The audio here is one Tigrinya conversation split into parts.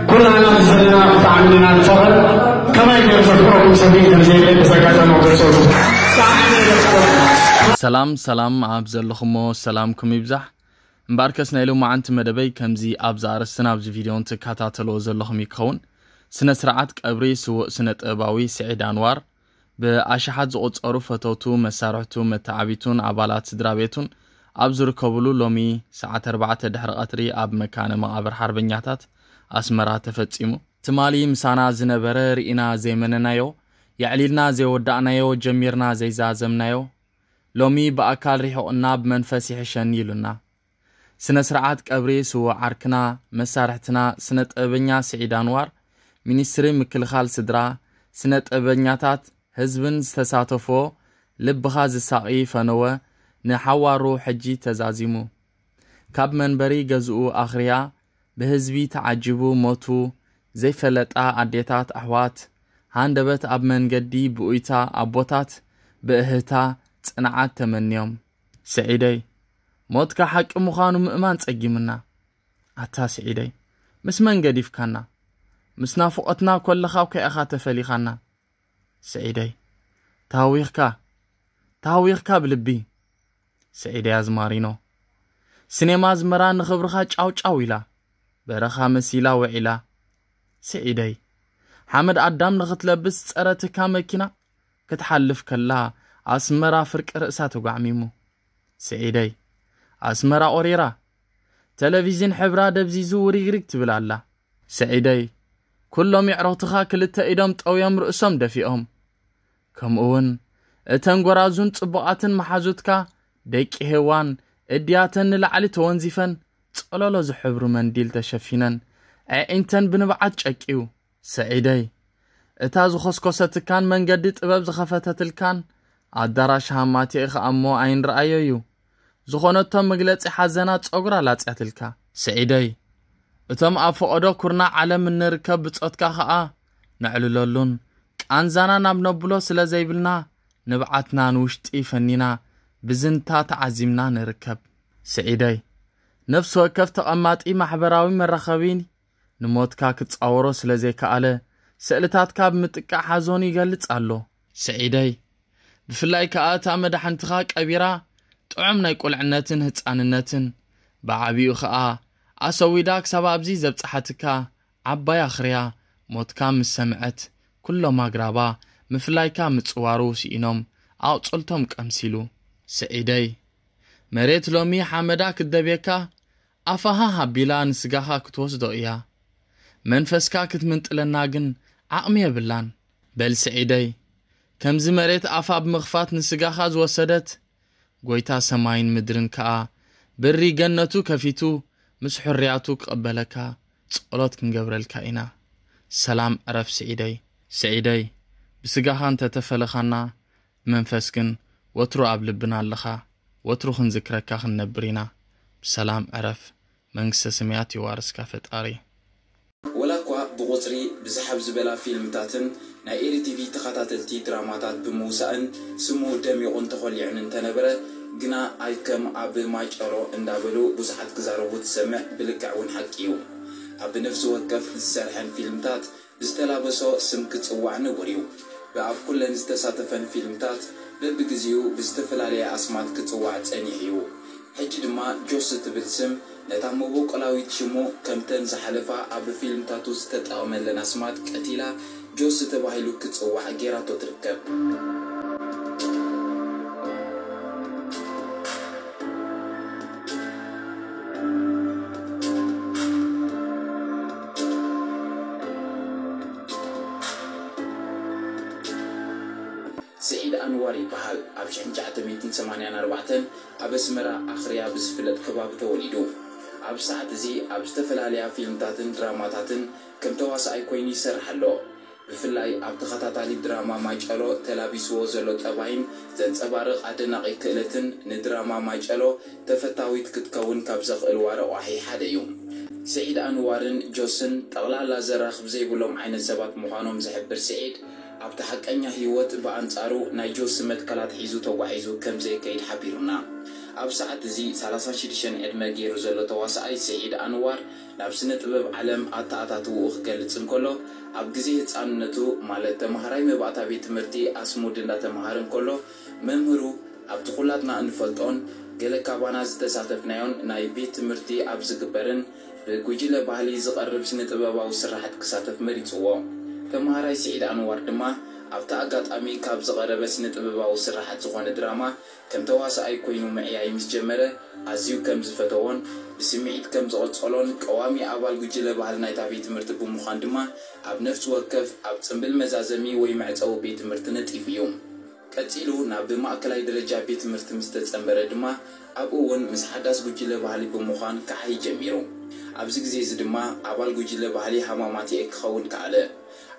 ኩላና ዘለና ብጣዕሚ ኢና ንፈቐር። ከመይ ገይሩ ዘፍቅረኩም ሰብ ከም ዘየለ በዚ ኣጋጣሚ ክገልጸልኩም። ብጣዕሚ እየ ዘፍቅረኩም። ሰላም ሰላም፣ ኣብ ዘለኹሞ ሰላምኩም ይብዛሕ። እምበኣርከስ ናይ ሎማዓንቲ መደበይ ከምዚ ኣብዚ ኣርእስትን ኣብዚ ቪድዮን ትከታተልዎ ዘለኹም ይኸውን። ስነ ስርዓት ቀብሪ ስዉእ ስነ ጥበባዊ ስዒድ ኣንዋር ብኣሽሓት ዝቑጸሩ ፈተውቱ፣ መሳርሕቱ፣ መተዓቢቱን ኣባላት ስድራ ቤቱን ኣብ ዝርከብሉ ሎሚ ሰዓት ኣርባዕተ ድሕሪ ቀትሪ ኣብ መካነ መቓብር ሓርበኛታት ኣስመራ ተፈጺሙ። ትማሊ ምሳና ዝነበረ ርኢና ዘይመነናዮ፣ የዕሊልና ዘይወዳእናዮ፣ ጀሚርና ዘይዛዘምናዮ፣ ሎሚ ብኣካል ሪሑቕና ብመንፈስ ይሕሸኒ ኢሉና። ስነ ስርዓት ቀብሪ ስዉእ ዓርክና፣ መሳርሕትና፣ ስነ ጥበበኛ ስዒድ ኣንዋር፣ ሚኒስትሪ ምክልኻል ስድራ፣ ስነ ጥበበኛታት፣ ህዝብን ዝተሳተፎ ልብኻ ዝሳቒ ፈነወ ንሓዋሩ ሕጂ ተዛዚሙ። ካብ መንበሪ ገዝኡ ኣኽርያ ብህዝቢ ተዓጂቡ ሞቱ ዘይፈለጣ ኣዴታት ኣሕዋት ሃንደበት ኣብ መንገዲ ብኡይታ ኣቦታት ብእህታ ጽንዓት ተመንዮም። ስዒደይ፣ ሞትካ ሓቂ ምዃኑ ምእማን ጸጊምና። ኣታ ስዒደይ፣ ምስ መን ገዲፍካና? ምስ ናፍቖትና ኮለኻ እኳ ኢኻ ተፈሊኻና። ስዒደይ፣ ተሃዊኽካ፣ ተሃዊኽካ ብልቢ። ስዒደይ ኣዝማሪኖ፣ ስኔማ ኣዝመራ ንኽብርኻ ጫው ጫው ኢላ፣ በረኻ መሲላ ውዒላ። ስዒደይ፣ ሓመድ ኣዳም ንኽትለብስ ዝጸረትካ መኪና ክትሓልፍ ከላ ኣስመራ ፍርቂ ርእሳ ተጓዕሚሙ። ስዒደይ፣ ኣስመራ ኦሪራ፣ ተለቪዝን ሕብራ ደብዚዙ ውሪግሪግ ትብል ኣላ። ስዒደይ፣ ኩሎም የዕሩኽትኻ ክልተ ኢዶም ጠውዮም ርእሶም ደፊኦም። ከምኡውን እተን ጎራዙን ጽቡቓትን መሓዙትካ ደቂ ሄዋን እድያተን ንላዕሊ ተወንዚፈን ጸለሎ ዝሕብሩ መንዲል ተሸፊነን ኣዒንተን ብንብዓት ጨቅዩ። ስዒደይ፣ እታ ዝኾስኮሰትካን መንገዲ ጥበብ ዝኸፈተትልካን ኣዳራሽ ሃማቴ ኸኣ እሞ ኣይንረኣዮ እዩ። ዝኾነቶ መግለጺ ሓዘና ጸጉራ ላጽያትልካ። ስዒደይ፣ እቶም ኣብ ፈቐዶ ኩርናዕ ዓለም እንርከብ ብጾትካ ኸኣ ነዕልለሉን ቃንዛና ናብ ነብሎ ስለ ዘይብልና ንብዓትና ንውሽጢ ፈኒና ብዝንታ ተዓዚምና ንርከብ። ስዒደይ፣ ነፍሲ ወከፍ ተቐማጢ ማሕበራዊ መራኸቢ ንሞትካ ክጻወሮ ስለ ዘይከኣለ፣ ስእልታትካ ብምጥቃዕ ሓዘኑ ይገልጽ ኣሎ። ስዒደይ፣ ብፍላይ ከኣ እታ መዳሕንትኻ ቀቢራ፣ ጥዑም ናይ ቁልዕነትን ህጻንነትን፣ ብዓቢኡ ከኣ ኣሰዊዳ ክሳብ ኣብዚ ዘብጽሓትካ ዓባይ ኣኽርያ ሞትካ ምስ ሰምዐት፣ ኩሎም ኣግራባ ምፍላይካ ምጽዋሩ ስኢኖም ኣቑጽልቶም ቀምሲሉ። ስዒደይ፣ መሬት ሎሚ ሓመዳ ክትደብየካ፣ ኣፋ ሃህ ኣቢላ ንስጋኻ ክትወስዶ እያ። መንፈስካ ክትምንጥለና ግን ዓቕሚ የብላን። በል ስዒደይ፣ ከምዚ መሬት ኣፋ ብምኽፋት ንስጋኻ ዝወሰደት፣ ጎይታ ሰማይን ምድርን ከኣ ብሪ ገነቱ ከፊቱ ምስ ሕርያቱ ክቕበለካ ጸሎት ክንገብረልካ ኢና። ሰላም ዕረፍ ስዒደይ። ስዒደይ፣ ብስጋኻ እንተ ተፈለኻና፣ ብመንፈስ ግን ወትሩ ኣብ ልብና ኣለኻ። ወትሩ ክንዝክረካ ክንነብር ኢና። ብሰላም ዕረፍ። መንግስተ ሰማያት የዋርስካ ፈጣሪ። ወላ እኳ ብቑጽሪ ብዝሕ ኣብ ዝበላ ፊልምታትን ናይ ኤሪ ቲቪ ተኸታተልቲ ድራማታት ብምውሳእን ስሙ ደሚቑን ተኾሊዑን እንተነበረ፣ ግና ኣይከም ኣብ ማይጨሎ እንዳበሉ ብዙሓት ክዛረቡ ትሰምዕ፣ ብልክዕ እውን ሓቂ እዩ። ኣብ ነፍሲ ወከፍ ዝሰርሐን ፊልምታት ብዝተላበሶ ስም ክጽዋዕ ንቡር እዩ። ብኣብ ኩለን ዝተሳተፈን ፊልምታት በብግዜኡ ብዝተፈላለየ ኣስማት ክጽዋዕ ጸኒሑ እዩ። ሕጂ ድማ ጆስ እትብል ስም ነታ መበቆላዊት ሽሙ ከምተን ዝሓለፋ ኣብ ፊልምታቱ ዝተጠቐመለን ኣስማት ቀቲላ ጆስ ተባሂሉ ክጽዋዕ ጌራቶ ትርከብ። ስዒድ ኣንዋር ይበሃል። ኣብ ሽሕን ትሽዓተ ሚእትን ሰማንያን ኣርባዕተን ኣብ ኣስመራ ኣኽርያ ብዝፍለጥ ከባቢ ተወሊዱ። ኣብ ሰዓት እዚ ኣብ ዝተፈላለያ ፊልምታትን ድራማታትን ከም ተዋሳኣይ ኮይኑ ይሰርሕ ኣሎ። ብፍላይ ኣብ ተኸታታሊ ድራማ ማይጨሎ ተላቢስዎ ዘሎ ጠባይን ዘንጸባርቕ ኣደናቒ ክእለትን ንድራማ ማይጨሎ ተፈታዊት ክትከውን ካብ ዘኽእልዋ ረቋሒ ሓደ እዩ። ስዒድ ኣንዋርን ጆስን ጠቕላላ ዘራኽብ ዘይብሎም ዓይነት ሰባት ምዃኖም ዝሕብር ስዒድ፣ ኣብቲ ሓቀኛ ህይወት ብኣንጻሩ ናይ ጆስ መትከላት ሒዙ ተጓዒዙ ከም ዘይከይድ ሓቢሩና። ኣብ ሰዓት እዚ ሰላሳ ሽዱሽተ ዕድመ ገይሩ ዘሎ ተዋሳኣይ ስዒድ ኣንዋር ናብ ስነ ጥበብ ዓለም ኣተኣታትውኡ ክገልጽ እንከሎ፣ ኣብ ግዜ ህጻንነቱ፣ ማለት ተማሃራይ መባእታ ቤት ትምህርቲ ኣስሙድ እንዳተማሃረ እንከሎ፣ መምህሩ ኣብቲ ኩላትና እንፈልጦን ገለ ካባና ዝተሳተፍናዮን ናይ ቤት ትምህርቲ ኣብ ዝግበርን ብጉጅለ ባህሊ ዝቐርብ ስነ ጥበባዊ ስራሓት ክሳተፍ መሪጽዎ። ተማሃራይ ስዒድ ኣንዋር ድማ ኣብቲ ኣጋጣሚ ካብ ዝቐረበ ስነ ጥበባዊ ስራሓት ዝኾነ ድራማ ከም ተዋሳኣይ ኮይኑ ምዕያይ ምስ ጀመረ፣ ኣዝዩ ከም ዝፈተዎን ብስምዒት ከም ዝቐጸሎን፣ ቀዋሚ ኣባል ጉጅለ ባህሊ ናይታ ቤት ትምህርቲ ብምዃን ድማ ኣብ ነፍሲ ወከፍ ኣብ ጽምብል መዛዘሚ ወይ መዕጸዊ ቤት ትምህርቲ ነጢፉ እዩ። ቀጺሉ ናብ ማእከላይ ደረጃ ቤት ትምህርቲ ምስ ተጸንበረ ድማ ኣብኡ እውን ምስ ሓዳስ ጉጅለ ባህሊ ብምዃን ክዓይ ጀሚሩ። ኣብዚ ግዜ እዚ ድማ ኣባል ጉጅለ ባህሊ ሃማማትኤ ክኸውን ከኣለ።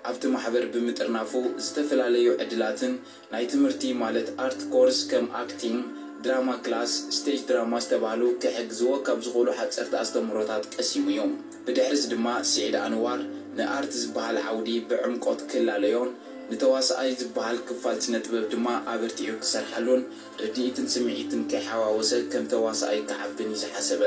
ኣብቲ ማሕበር ብምጥርናፉ ዝተፈላለዩ ዕድላትን ናይ ትምህርቲ ማለት ኣርት ኮርስ ከም ኣክቲንግ፣ ድራማ ክላስ፣ ስቴጅ ድራማ ዝተባህሉ ክሕግዝዎ ካብ ዝኽእሉ ሓጸርቲ ኣስተምህሮታት ቀሲሙ እዩ። ብድሕሪዚ ድማ ስዒድ ኣንዋር ንኣርት ዝበሃል ዓውዲ ብዕምቆት ክላለዮን ንተዋሳኣይ ዝበሃል ክፋል ስነ ጥበብ ድማ ኣበርቲዑ ክሰርሓሉን ርድኢትን ስምዒትን ከይሓዋወሰ ከም ተዋሳኣይ ክዓብን እዩ ዝሓሰበ።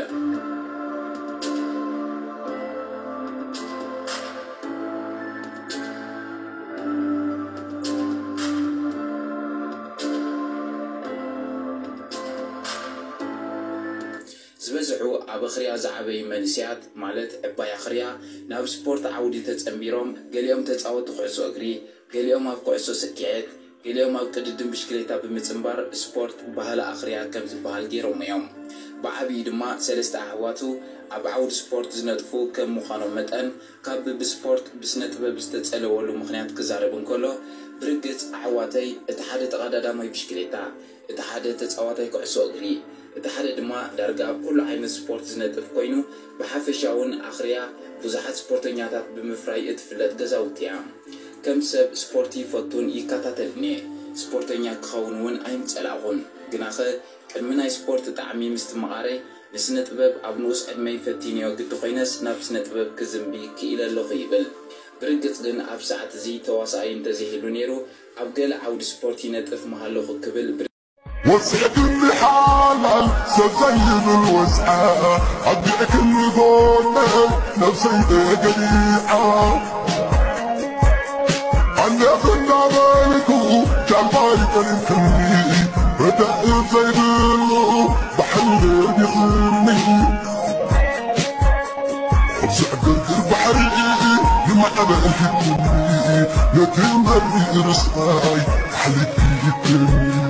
ዝበዝሑ ኣብ ኣኽርያ ዝዓበዩ መንእሰያት፣ ማለት ዕባይ ኣኽርያ፣ ናብ ስፖርት ዓውዲ ተጸንቢሮም፣ ገሊኦም ተጻወትቲ ኩዕሶ እግሪ፣ ገሊኦም ኣብ ኩዕሶ ስኪዔት፣ ገሊኦም ኣብ ቅድድም ብሽክሌታ ብምጽንባር ስፖርት ባህሊ ኣኽርያ ከም ዝበሃል ገይሮም እዮም። ብዓቢኡ ድማ ሰለስተ ኣሕዋቱ ኣብ ዓውዲ ስፖርት ዝነጥፉ ከም ምዃኖም መጠን፣ ካብ ብስፖርት ብስነ ጥበብ ዝተጸለወሉ ምኽንያት ክዛረብ እንከሎ፣ ብርግጽ ኣሕዋተይ እቲ ሓደ ተቐዳዳማይ ብሽክሌታ፣ እቲ ሓደ ተጻዋታይ ኩዕሶ እግሪ፣ እቲ ሓደ ድማ ዳርጋ ኣብ ኩሉ ዓይነት ስፖርት ዝነጥፍ ኮይኑ፣ ብሓፈሻ እውን ኣኽርያ ብዙሓት ስፖርተኛታት ብምፍራይ እትፍለጥ ገዛውቲ እያ። ከም ሰብ ስፖርት ይፈቱን ይከታተልን እየ። ስፖርተኛ ክኸውን እውን ኣይምጸላእኹን። ግናኸ ቅድሚ ናይ ስፖርት ጣዕሚ ምስትምቓረይ ንስነ ጥበብ ኣብ ንኡስ ዕድመይ ፈቲነዮ ግዲ ኮይነስ ናብ ስነ ጥበብ ክዝንቢ ክኢለ ኣለኹ ይብል። ብርግጽ ግን ኣብ ሰዓት እዚ ተዋሳኣይ እንተዘይህሉ ነይሩ ኣብ ገለ ዓውዲ ስፖርት ይነጥፍ ምሃለኹ ክብል ወፅዕትኒ ሓላል ሰብ ዘይብል ወፅዓ ኣቢዕክኒ ጎነይ ነብሰይ ተገሊዓ ኣለኽ እንዳበልኩ ጃልባይ ጠሊምክኒ ረዳእ ዘይብሉ ባሕሪ ደርቢኽኒ ኣብዚ ዕግርግር ባሕሪ ንማዕበል ሂብክኒ ነቲ መሪር ስቓይ ኣሕሊፍክኒ